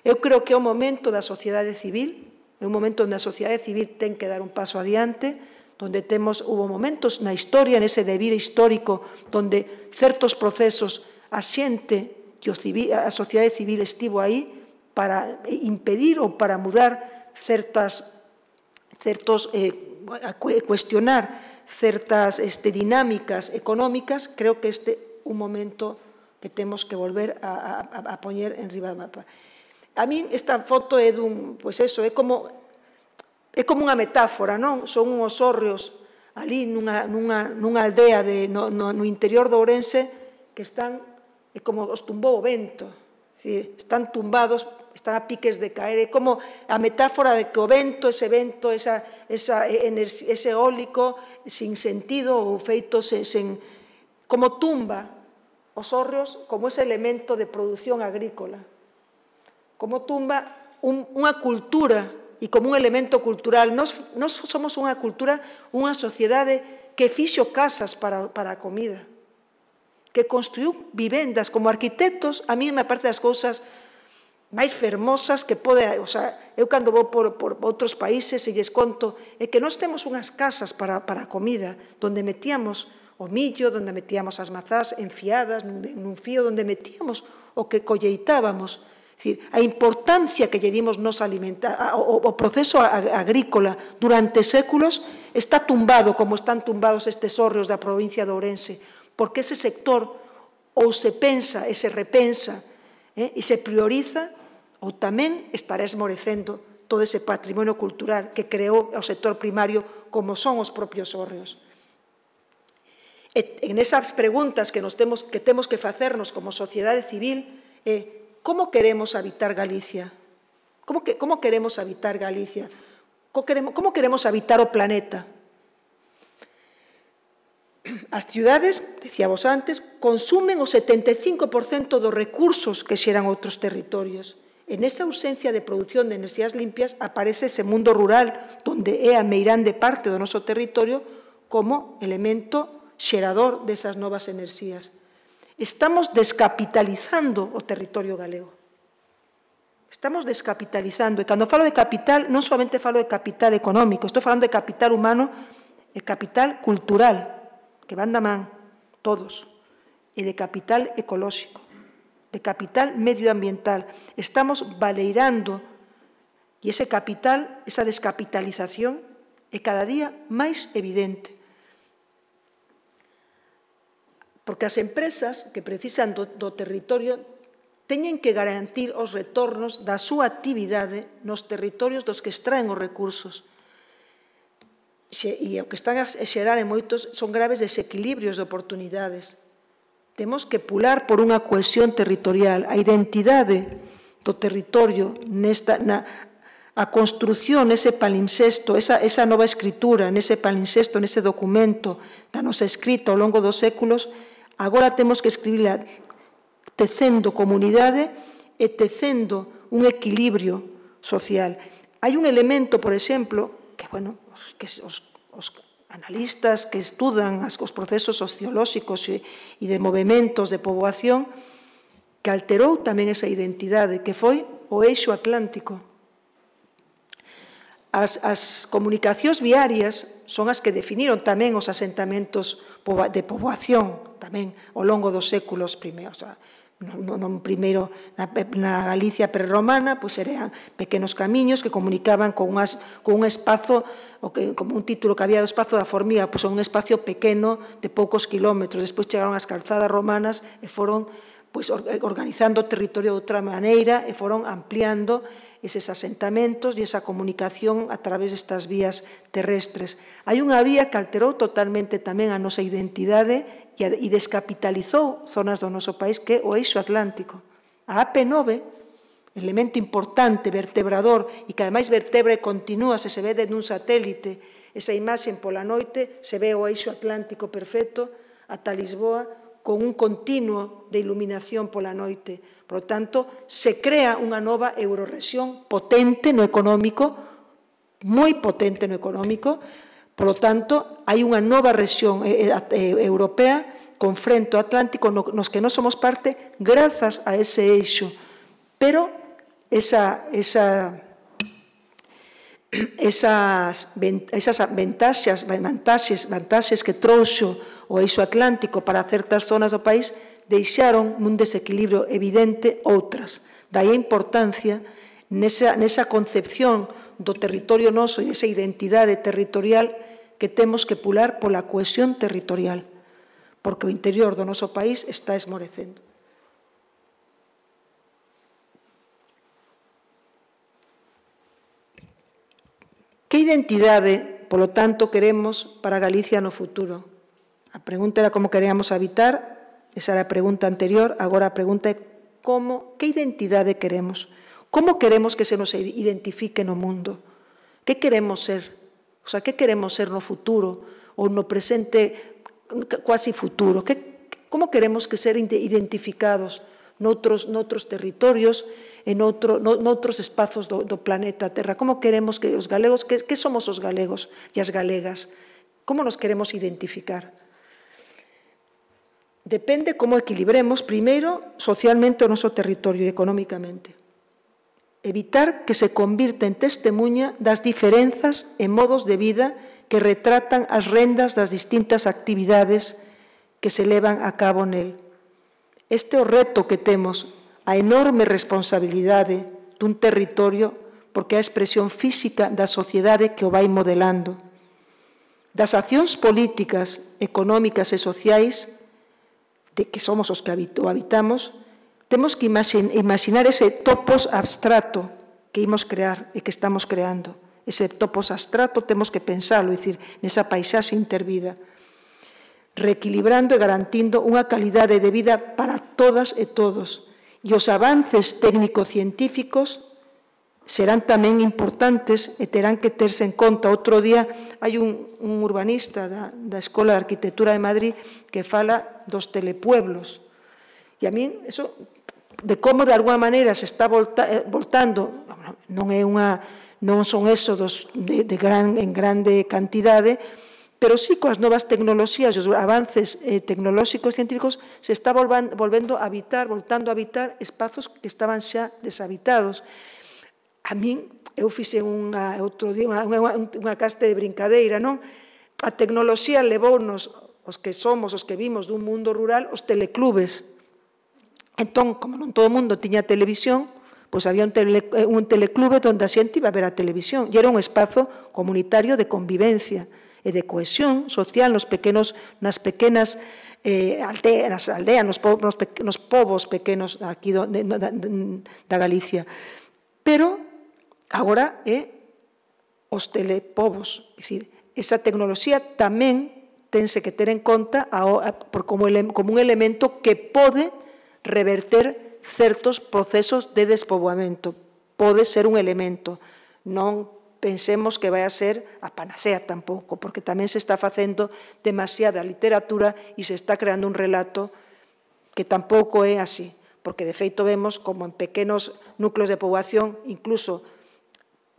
Eu creo que é o momento da sociedade civil, é un momento onde a sociedade civil ten que dar un paso adiante, onde temos, hubo momentos na historia, nese devir histórico, onde certos procesos a xente e a sociedade civil estivo aí para impedir ou para mudar certas, certos, eh, a cuestionar certas este, dinámicas económicas. Creo que este é un momento que temos que volver a, a, a poñer en riba do mapa. A min esta foto é dun, pois eso, é como é como unha metáfora, non? Son uns hórreos ali nunha, nunha, nunha aldea de, no, no, no interior do Ourense que están, é como os tumbou o vento, é, están tumbados, están a piques de caer, é como a metáfora de que o vento, ese vento, esa, esa, ese eólico sin sentido ou feito sen, sen, como tumba os hórreos como ese elemento de produción agrícola, como tumba un, unha cultura e como un elemento cultural. Nos, nos somos unha cultura, unha sociedade que fixo casas para, para a comida, que construiu vivendas. Como arquitectos, a mí me parece das cousas máis fermosas que pode... O sea, eu cando vou por, por outros países e lles conto é que nós temos unhas casas para, para a comida, onde metíamos o millo, onde metíamos as mazás enfiadas nun, nun fío, onde metíamos o que colleitábamos. É dicir, a importancia que lle dimos nos alimentar, o, o proceso agrícola durante séculos está tumbado como están tumbados estes hórreos da provincia de Ourense, porque ese sector ou se pensa e se repensa eh, e se prioriza, ou tamén estará esmorecendo todo ese patrimonio cultural que creou o sector primario como son os propios hórreos. E en esas preguntas que, nos temos, que temos que facernos como sociedade civil é eh, como queremos habitar Galicia? Como, que, como queremos habitar Galicia? Como queremos, como queremos habitar o planeta? As ciudades, decíamos antes, consumen o setenta e cinco por cento dos recursos que xeran outros territorios. En esa ausencia de produción de enerxías limpias aparece ese mundo rural, onde é a meirande parte do noso territorio como elemento xerador desas novas enerxías. Estamos descapitalizando o territorio galego. Estamos descapitalizando. E cando falo de capital, non somente falo de capital económico, estou falando de capital humano e capital cultural, que van da man, todos, e de capital ecolóxico, de capital medioambiental. Estamos baleirando, e ese capital, esa descapitalización, é cada día máis evidente. Porque as empresas que precisan do, do territorio teñen que garantir os retornos da súa actividade nos territorios dos que extraen os recursos. E o que están a xerar en moitos son graves desequilibrios de oportunidades. Temos que pular por unha cohesión territorial, a identidade do territorio, nesta, na, a construción, ese palimpsesto, esa, esa nova escritura, nese palimpsesto, nese documento da nosa escrita ao longo dos séculos. Agora temos que escribirla tecendo comunidade e tecendo un equilibrio social. Hai un elemento, por exemplo, que, bueno, que os, os analistas que estudan os procesos sociolóxicos e, e de movimentos de poboación, que alterou tamén esa identidade, que foi o eixo atlántico. As, as comunicacións viarias son as que definiron tamén os asentamentos de poboación tamén ao longo dos séculos primeiros. non, non primeiro na, na Galicia prerromana, pois eran pequenos camiños que comunicaban con, unas, con un espazo, o que, como un título que había do espazo da formiga, pois un espacio pequeno de poucos kilómetros. Despois chegaron as calzadas romanas e foron pois, organizando o territorio de outra maneira e foron ampliando eses asentamentos e esa comunicación a través destas vías terrestres. Hai unha vía que alterou totalmente tamén a nosa identidade e descapitalizou zonas do noso país, que é o eixo atlántico. A A P nove, elemento importante, vertebrador, e que ademais vertebra e continúa, se se ve dentro dun satélite, esa imaxe pola noite, se ve o eixo atlántico perfecto ata Lisboa, con un continuo de iluminación pola noite. Por lo tanto, se crea unha nova eurorrexión potente no económico, moi potente no económico. Por lo tanto, hai unha nova rexión europea con frente ao Atlántico nos que non somos parte grazas a ese eixo. Pero esa, esa, esas, esas ventaxas, vantaxes, vantaxes que trouxo o eixo atlántico para certas zonas do país deixaron nun desequilibrio evidente outras. Daí a importancia nesa, nesa concepción do territorio noso e desa identidade territorial que temos que pular pola cohesión territorial, porque o interior do noso país está esmorecendo. Que identidade, polo tanto, queremos para Galicia no futuro? A pregunta era como queríamos habitar, esa era a pregunta anterior, agora a pregunta é como, que identidade queremos? Como queremos que se nos identifique no mundo? Que queremos ser? O sea, que queremos ser no futuro ou no presente quasi futuro? Que, como queremos que ser identificados noutros, noutros territorios e noutro, no, noutros espazos do, do planeta Terra? Como queremos que os galegos, que, que somos os galegos e as galegas? Como nos queremos identificar? Depende como equilibremos, primeiro, socialmente o noso territorio e económicamente. Evitar que se convirta en testemunha das diferenzas e modos de vida que retratan as rendas das distintas actividades que se levan a cabo nel. Este é o reto que temos, a enorme responsabilidade dun territorio, porque é a expresión física da sociedade que o vai modelando. Das accións políticas, económicas e sociais, de que somos os que o habitamos, temos que imaginar ese topos abstrato que imos crear e que estamos creando. Ese topos abstrato temos que pensalo, é dicir, nesa paisaxe intervida, reequilibrando e garantindo unha calidade de vida para todas e todos. E os avances técnico-científicos serán tamén importantes e terán que terse en conta. Outro día hai un, un urbanista da, da Escola de Arquitectura de Madrid que fala dos telepueblos. E a mí, eso, de como de alguna maneira se está volta, voltando, non é unha, non son éxodos de, de gran, en grande cantidade, pero sí coas novas tecnoloxías, os avances eh, tecnolóxicos e científicos, se está volvando, volvendo a habitar, voltando a habitar espazos que estaban xa deshabitados. A min, eu fixe unha, outro día, unha, unha, unha caste de brincadeira, non? A tecnoloxía levounos, os que somos, os que vimos dun mundo rural, os teleclubes. Entón, como non todo o mundo tiña televisión, pois había un, tele, un teleclube onde a xente iba a ver a televisión, e era un espazo comunitario de convivencia e de cohesión social nos pequenos, nas pequenas eh, aldeas, nas aldeas, nos, po, nos, pe, nos povos pequenos aquí do, de, da, da Galicia. Pero agora é os telepovos, é dicir, esa tecnoloxía tamén tense que ter en conta a, a, por como, ele, como un elemento que pode reverter certos procesos de despoboamento. Pode ser un elemento. Non pensemos que vai a ser a panacea tampouco, porque tamén se está facendo demasiada literatura e se está creando un relato que tampouco é así, porque de feito vemos como en pequenos núcleos de poboación, incluso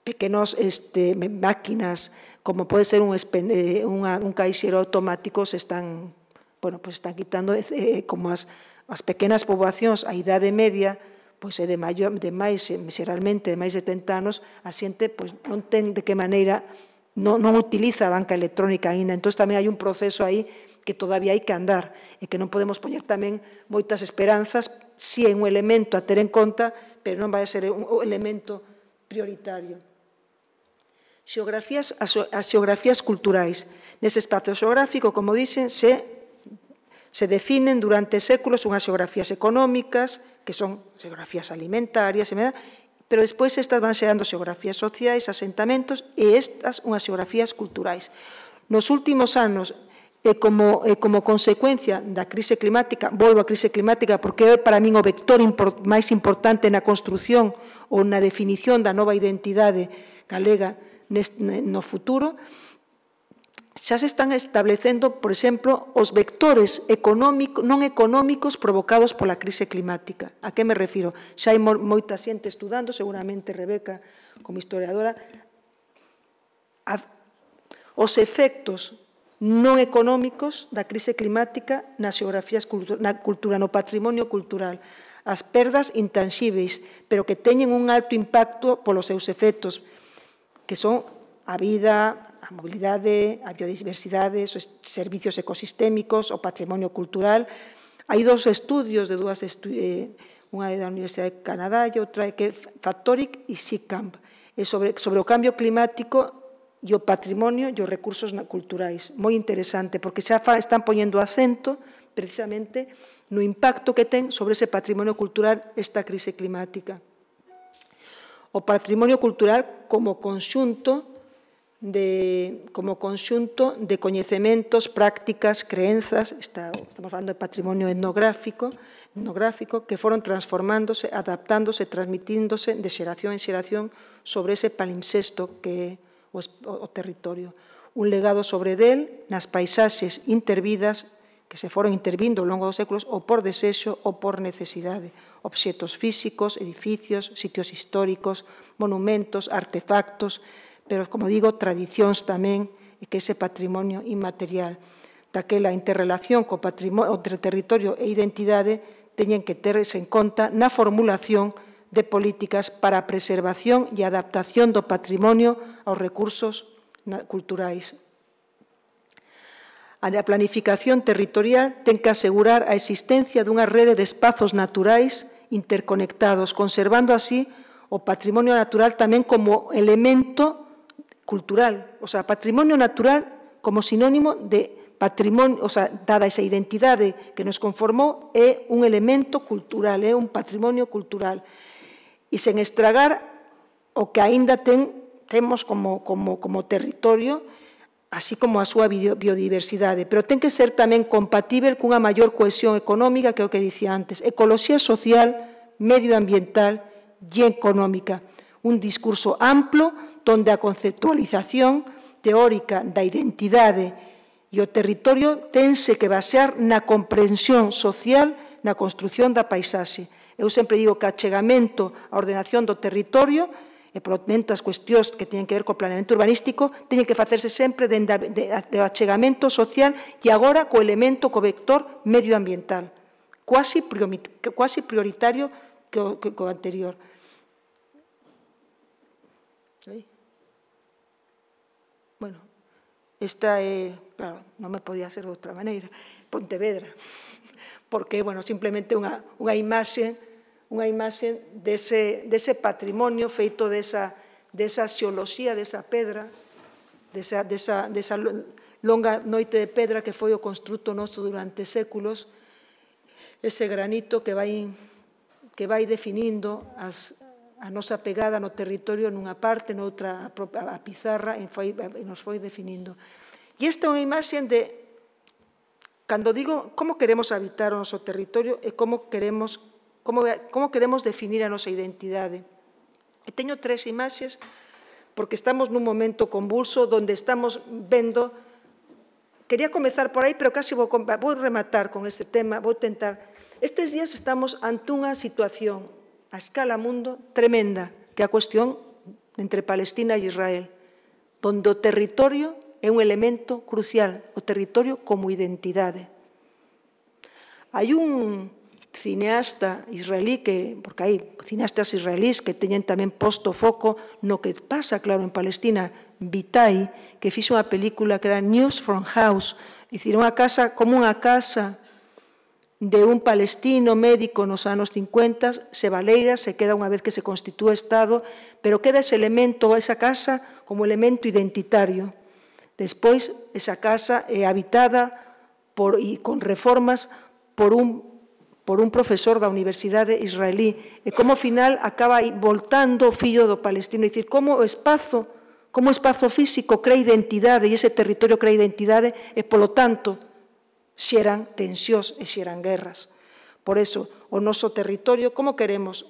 pequenos este, máquinas, como pode ser un, un, un caixero automático, se están, bueno, pues están quitando eh, como as As pequenas poboacións, a idade media, pois é de, maior, de máis, xeralmente, de máis de setenta anos, a xente pois, non ten de que maneira, non, non utiliza a banca electrónica aínda. Entón, tamén hai un proceso aí que todavía hai que andar e que non podemos poñer tamén moitas esperanzas si é un elemento a ter en conta, pero non vai a ser un elemento prioritario. Xeografías, as xeografías culturais. Nese espazo xeográfico, como dixen, se, se definen durante séculos unhas xeografías económicas, que son xeografías alimentarias, pero despois estas van xerando xeografías sociais, asentamentos, e estas unhas xeografías culturais. Nos últimos anos, e como, e como consecuencia da crise climática, volvo á crise climática porque é para min o vector import, máis importante na construción ou na definición da nova identidade galega nest, no futuro, xa se están establecendo, por exemplo, os vectores económico, non económicos provocados pola crise climática. A que me refiro? Xa hai moita xente estudando, seguramente Rebeca, como historiadora, a, os efectos non económicos da crise climática nas xeografías, na cultura, no patrimonio cultural. As perdas intanxíveis, pero que teñen un alto impacto polos seus efectos, que son a vida, a mobilidade, a biodiversidade, os servicios ecosistémicos, o patrimonio cultural. Hai dous estudios de dúas estudios, unha é da Universidade de Canadá e outra é que Factoric e Seacamp, sobre, sobre o cambio climático e o patrimonio e os recursos culturais. Moi interesante, porque xa están poñendo acento precisamente no impacto que ten sobre ese patrimonio cultural esta crise climática. O patrimonio cultural como conxunto de, como conxunto de coñecementos, prácticas, creenzas, está, estamos falando de patrimonio etnográfico, etnográfico que foron transformándose, adaptándose, transmitíndose de xeración en xeración sobre ese palimpsesto que é O, o territorio. Un legado sobre del nas paisaxes intervidas que se foron intervindo ao longo dos séculos ou por desexo ou por necesidade. Obxetos físicos, edificios, sitios históricos, monumentos, artefactos, pero, como digo, tradicións tamén, e que ese patrimonio inmaterial daquela interrelación co patrimonio, entre territorio e identidade teñen que terse en conta na formulación de políticas para a preservación e adaptación do patrimonio aos recursos culturais. A planificación territorial ten que asegurar a existencia dunha rede de espazos naturais interconectados, conservando así o patrimonio natural tamén como elemento cultural, o sea, patrimonio natural como sinónimo de patrimonio, o sea, dada esa identidade que nos conformou, é un elemento cultural, é un patrimonio cultural. E sen estragar o que aínda ten, temos como, como, como territorio, así como a súa biodiversidade, pero ten que ser tamén compatible cunha maior cohesión económica, que é o que dicía antes, ecoloxía social, medioambiental e económica. Un discurso amplo donde a conceptualización teórica da identidade e o territorio tense que basear na comprensión social na construción da paisaxe. Eu sempre digo que o achegamento á ordenación do territorio e, por tanto, as cuestións que teñen que ver co planeamento urbanístico teñen que facerse sempre de, de, de achegamento social e agora co elemento, co vector medioambiental, quasi, quasi prioritario que o, que o anterior. ¿Sí? Bueno, esta é, claro, non me podía ser de outra maneira, Pontevedra, porque, bueno, simplemente unha, unha imaxe unha imaxe dese, dese patrimonio feito desa, desa xeoloxía, desa pedra, desa, desa, desa longa noite de pedra que foi o construto noso durante séculos, ese granito que vai, que vai definindo as, a nosa pegada no territorio nunha parte, noutra a pizarra, e, foi, e nos foi definindo. E esta é unha imaxe de, cando digo como queremos habitar o noso territorio e como queremos Como, como queremos definir a nosa identidade. E teño tres imaxes porque estamos nun momento convulso onde estamos vendo. Quería comezar por aí, pero casi vou, vou rematar con este tema, vou tentar. Estes días estamos ante unha situación a escala mundo tremenda, que é a cuestión entre Palestina e Israel, onde o territorio é un elemento crucial, o territorio como identidade. Hai un cineasta israelí, que, porque hai cineastas israelís que teñen tamén posto foco no que pasa, claro, en Palestina, Vitai, que fixo unha película que era News from House, é dicir, unha casa como unha casa de un palestino médico nos anos cincuenta, se baleira, se queda unha vez que se constitúe Estado, pero queda ese elemento, esa casa, como elemento identitario. Despois, esa casa é habitada por, e con reformas por un, por un profesor da Universidade Israelí, e como ao final acaba voltando o fillo do palestino, é dicir, como o espazo, como o espazo físico crea identidade e ese territorio crea identidade e, polo tanto, xeran tensións e xeran guerras. Por eso, o noso territorio, como queremos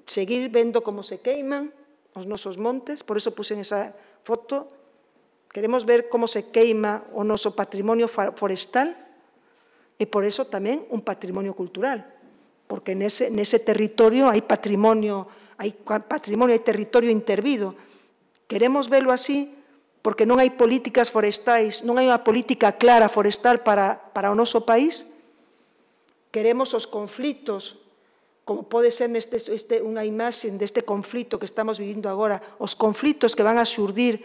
seguir vendo como se queiman os nosos montes, por eso puxen esa foto, queremos ver como se queima o noso patrimonio forestal e, por eso, tamén un patrimonio cultural, porque nese, nese territorio hai patrimonio, hai patrimonio, hai territorio intervido. Queremos velo así, porque non hai políticas forestais, non hai unha política clara forestal para, para o noso país. Queremos os conflitos, como pode ser neste, este, unha imaxe deste conflito que estamos vivindo agora, os conflitos que van a xurdir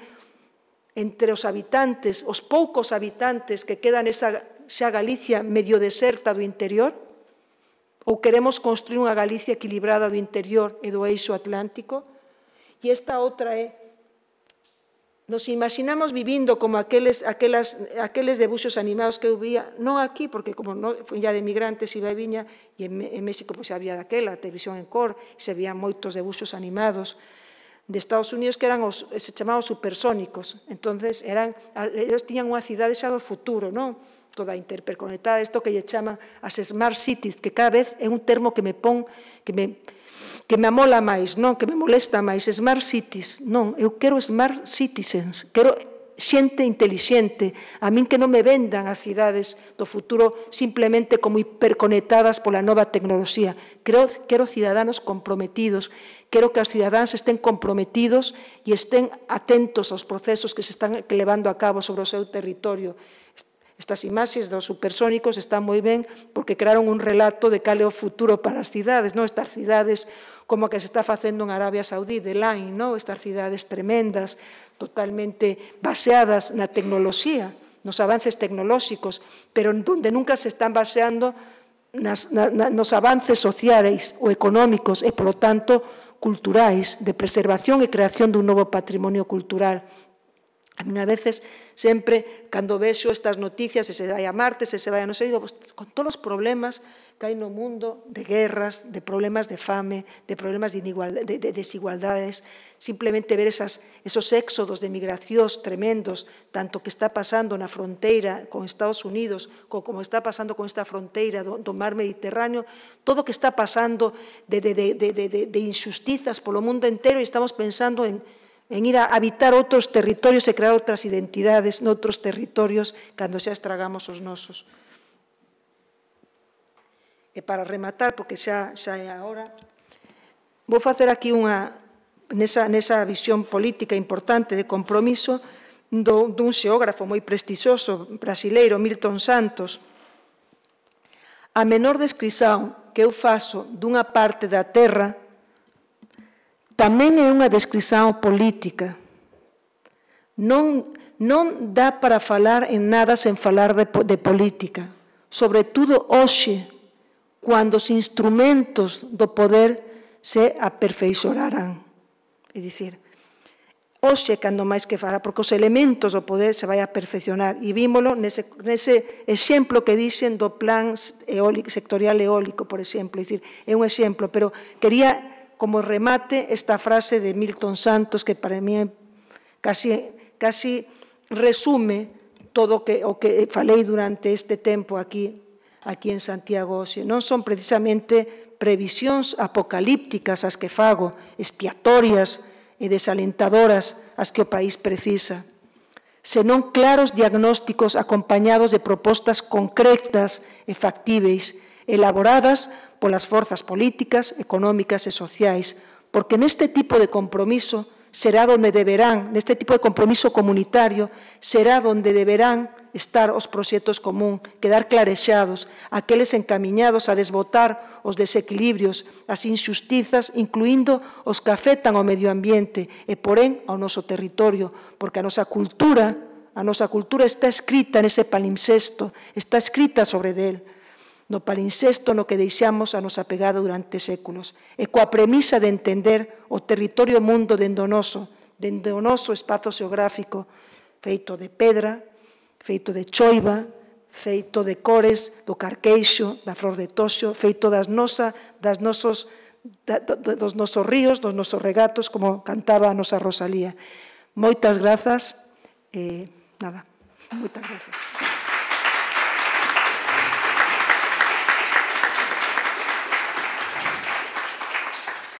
entre os habitantes, os poucos habitantes que quedan nesa xa Galicia medio deserta do interior, ou queremos construir unha Galicia equilibrada do interior e do eixo atlántico. E esta outra é, nos imaginamos vivindo como aqueles, aquelas, aqueles debuxos animados que eu vía, non aquí, porque como non, foi ya de migrantes iba e viña, e en, en México pois, había daquela, televisión en cor, e se vían moitos debuxos animados de Estados Unidos que eran os, se chamaban supersónicos. Entonces, eran, eles tiñan unha cidade xa do futuro, non? Toda interconectada, isto que lle chaman as smart cities, que cada vez é un termo que me pon, que me... que me amola máis, non, que me molesta máis, smart cities, non, eu quero smart citizens, quero xente intelixente, a min que non me vendan as cidades do futuro simplemente como hiperconectadas pola nova tecnoloxía, quero, quero cidadáns comprometidos, quero que os cidadáns estén comprometidos e estén atentos aos procesos que se están levando a cabo sobre o seu territorio. Estas imaxes dos supersónicos están moi ben porque crearon un relato de cal é o futuro para as cidades, non? Estas cidades como a que se está facendo en Arabia Saudí, de Line, non? Estas cidades tremendas, totalmente baseadas na tecnoloxía, nos avances tecnolóxicos, pero onde nunca se están baseando nas, na, nos avances sociais ou económicos e, polo tanto, culturais, de preservación e creación dun novo patrimonio cultural. A mí, a veces, sempre, cando vexo estas noticias, se se vai a Marte, se se vai a non sei, digo, pues, con todos os problemas que hai no mundo, de guerras, de problemas de fame, de problemas de, de, de desigualdades, simplemente ver esas, esos éxodos de migracións tremendos, tanto que está pasando na fronteira con Estados Unidos, como, como está pasando con esta fronteira do, do mar Mediterráneo, todo o que está pasando de, de, de, de, de, de injustizas polo mundo entero, e estamos pensando en en ir a habitar outros territorios e crear outras identidades noutros territorios cando xa estragamos os nosos. E para rematar, porque xa, xa é a hora, vou facer aquí unha, nesa, nesa visión política importante de compromiso do, dun xeógrafo moi prestixioso brasileiro, Milton Santos. A menor descrición que eu faço dunha parte da terra tamén é unha descrición política. Non, non dá para falar en nada sen falar de, de política. Sobre todo hoxe, cando os instrumentos do poder se aperfeiçoarán. É dicir, hoxe, cando máis que fará, porque os elementos do poder se vai a perfeccionar. E vímolo nese, nese exemplo que dixen do plan eólico, sectorial eólico, por exemplo. É dicir, é un exemplo, pero quería como remate esta frase de Milton Santos, que para mí casi, casi resume todo o que, o que falei durante este tempo aquí, aquí en Santiago. Non son precisamente previsións apocalípticas as que fago, expiatorias e desalentadoras as que o país precisa, senón claros diagnósticos acompañados de propostas concretas e factíveis, elaboradas polas forzas políticas, económicas e sociais, porque neste tipo de compromiso será onde deberán, neste tipo de compromiso comunitario, será onde deberán estar os proxectos común, quedar clarexados, aqueles encamiñados a desbotar os desequilibrios, as injustizas, incluindo os que afectan ao medio ambiente e, porén, ao noso territorio, porque a nosa cultura, a nosa cultura está escrita nese palimpsesto, está escrita sobre del. no palincesto no que deixamos a nosa pegada durante séculos, e coa premisa de entender o territorio mundo dende o noso, dende o noso espazo xeográfico, feito de pedra, feito de choiva, feito de cores, do carqueixo, da flor de toxo, feito das, nosa, das nosos, da, dos nosos ríos, dos nosos regatos, como cantaba a nosa Rosalía. Moitas grazas, eh, nada, moitas grazas.